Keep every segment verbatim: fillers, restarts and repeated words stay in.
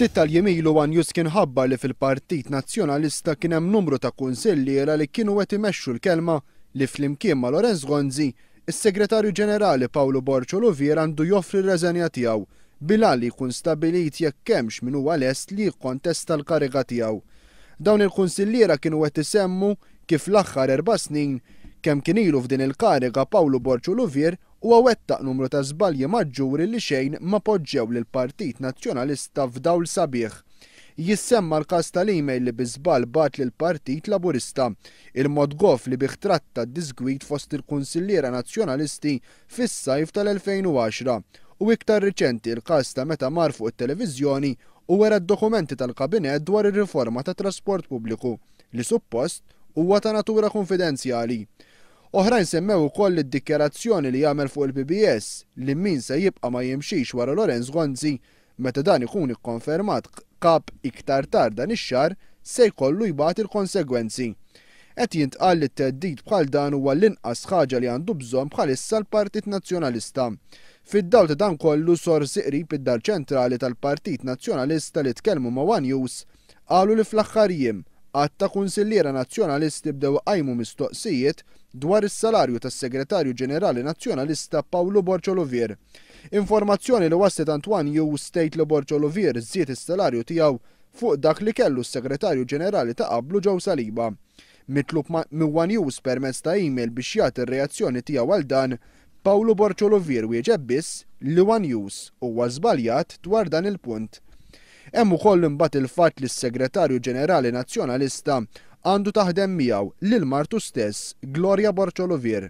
Ftit tal-jiem ilu One News kien ħabbar li fil-Partit Nazzjonalista kien hemm numru ta' kunsilliera li kienu qed imexxu l-kelma li flimkien ma' Lawrence Gonzi, is-Segretarju Ġenerali Pawlu Borg Olivier għandu joffri r-reżenja tiegħu bil-għan li jkun stabbilit jekk hemmx min huwa lest li jikkontesta l-kariga tiegħu. Dawn il-kunsilliera kienu qed isemmu kif l-aħħar erba' snin kemm kien ilu f'din il-kariga Pawlu Borg Olivier huwa wettaq numru ta' żbalji maġġuri li xejn ma poġġew lill-Partit Nazzjonalista f'dawl sabiħ. Jissemma l-każ tal-email li bi żball bagħat lill-Partit Laburista, il-mod goff li bih tratta d-disgwid fost il-kunsilliera Nazzjonalisti fis-sajf tal-elfejn u għaxra u iktar riċenti l-każ ta' meta mar fuq it-televiżjoni u wera d-dokumenti tal-kabinett dwar ir-riforma ta' trasport pubbliku li suppost huwa ta' natura konfidenzjali. Oħrajn semmew ukoll id-dikjarazzjoni li jagħmel fuq il-P B S li min se jibqa' ma jimxix wara Lawrence Gonzi meta dan ikun ikkonfermat kap iktar tard dan ix-xahar se jkollu jbagħat il-konsegwenzi. Qed jintqal li t-theddid bħal dan huwa l-inqas ħaġa li għandu bżonn bħalissa l-Partit Nazzjonalista. Fid-dawl ta' dan kollu sorsi qrib id-dar ċentrali tal-Partit Nazzjonalista li tkellmu ma' One News qalu li fl-aħħar jiem għadd ta' kunsilliera Nazzjonalisti bdew iqajmu mistoqsijiet dwar is-salarju tas-Segretarju Ġenerali Nazzjonalista Pawlu Borg Olivier. Informazzjoni li waslet għand One News tgħid li Borg Olivier żied is-salarju tiegħu fuq dak li kellu s-Segretarju Ġenerali ta' qablu Joe Saliba. Mitlub ma-, minn One News permezz ta' email biex jagħti r-reazzjoni tiegħu għal dan, Pawlu Borg Olivier wieġeb biss li One News huwa żbaljat dwar dan il-punt. Hemm ukoll imbagħad il-fatt li s-Segretarju Ġenerali Nazzjonalista għandu taħdem miegħu lil martu stess, Gloria Borg Olivier.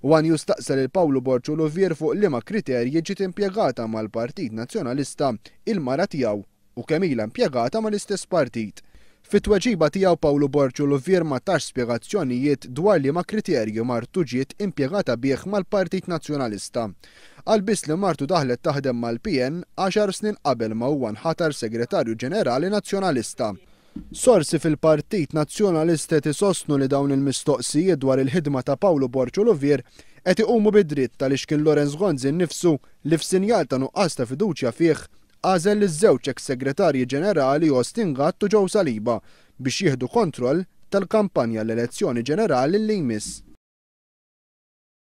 One News staqsa lil Pawlu Borg Olivier fuq liema kriterji ġiet impjegata mal-Partit Nazzjonalista il-mara tiegħu u kemm ilha impjegata mal-istess partit. Fit-tweġiba tiegħu Pawlu Borg Olivier ma tax spjegazzjonijiet dwar liema kriterji martu ġiet impjegata bih mal-Partit Nazzjonalista. Qal biss li martu daħlet taħdem mal-P N għaxar snin qabel ma huwa nħatar Segretarju Ġenerali Nazzjonalista. Sorsi fil-Partit Nazzjonalista qed isostnu li dawn il-mistoqsijiet dwar il-ħidma ta' Pawlu Borg Olivier qed iqumu bid-dritt għaliex kien Lawrence Gonzi nnifsu li f'sinjal ta' nuqqas ta' fiduċja fih għażel li żewġ ex-segretarji ġenerali Austin Gatt u Joe Saliba biex jieħdu kontroll tal-kampanja l-elezzjoni ġenerali li jmiss.